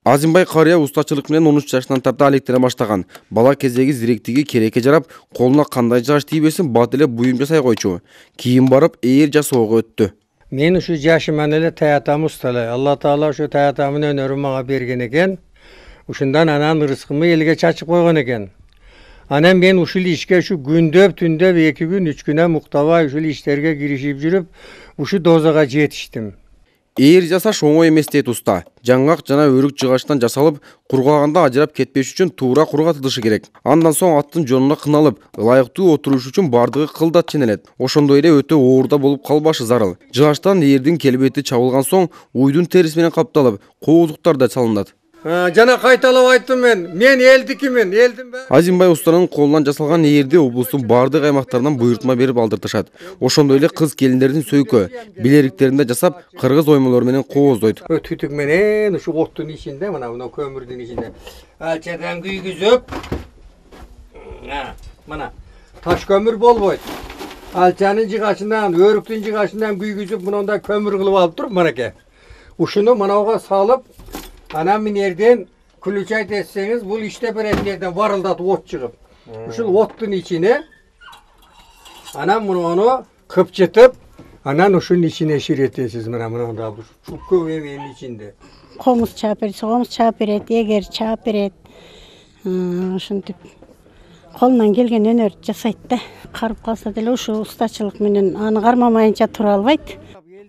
Азимбай карыя устачылык менен 13 жашынан тарта алектене баштаган. Бала кездеги зиректиги керекке жарап, колуна кандай жаш тийбесин бат эле буюм жасай койчу. Кийин барып ээр жасоого өттү. Мен ушу жашыман эле таятам усталай. Алла Таала ушу таятамын өнөрүн мага берген экен. Ушундан анан ырыскымы элге чачып койгон экен. Анан мен ушул ишке ушу күндөп, түндөп 2 күн, 3 күнө муктабай ушул иштерге киришип жүрүп, ушу дозага жетиштим. Ээр жасаш оңой эмес дейт уста. Жаңгак жана өрүк жыгачтан жасалып, кургаганда ажырап кетпеш үчүн туура кургатылышы керек. Андан соң аттын жонуна кыналып, ылайыктуу отуруш үчүн бардыгы кылдат ченелет. Ошондой эле өтө оорда болуп калбашы зарыл. Жыгачтан ээрдин келбети чабылган соң, уйдун териси менен капталып, кооздуктар да салынат. Жана кайталап айттым мен элдикимин, элдимби? Азимбай устанын колунан жасалган ээрди облустун бардык аймактарынан буйртма берип алдыртышат. Ошондой эле кыз келиндердин сөйкө, билериктеринде жасап, кыргыз оймолору менен кооздойт. Түтүк менен ушу оттун ичинде, мына көмүрдүн ичинде алчадан күйгүзүп, мына таш көмүр болбойт. Алчанын жыгачынан, өрүктүн жыгачынан күйгүзүп, мындай көмүр кылып алып туруп, мынакей. Ушуну мынауга салып, анан минерден күлүчай десеңиз, бул иште беретинерден барылдатып от чыгып. Ушул оттун ичине анан муну кыпчытып, анан ушунун ичине ширетесиз. Мына мында бул көп эменин ичинде. Комуз чаап берет, комуз чаап берет, эгер чаап берет. Ушинтип колунан келген өнөр жасайт да. Карып калса деле ушу устачылык менен аны кармамайынча тура албайт.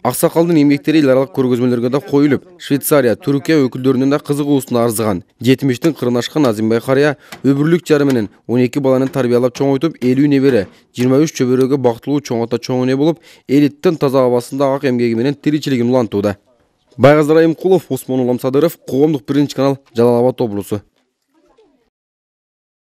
Аксакалдын эмгектери эл аралык көргөзмөлөргө да коюлуп, Швейцария, Түркия өкүлдөрүнүн да кызыгуусуна арзыган. 70-тин кырына ашкан Азимбай карыя өбүрлүк жары менен 12 баланы тарбиялап чоңойтуп, 50 небере, 23 чөбөрөгө бактылуу чоңото чоң эне болуп, элиттин таза абасында ак эмгеги менен тиричилигин улантууда. Байгаздар Айымкулов, Осмон Уламсадыров, Коомдук 1 канал, Жалал Абад облусу.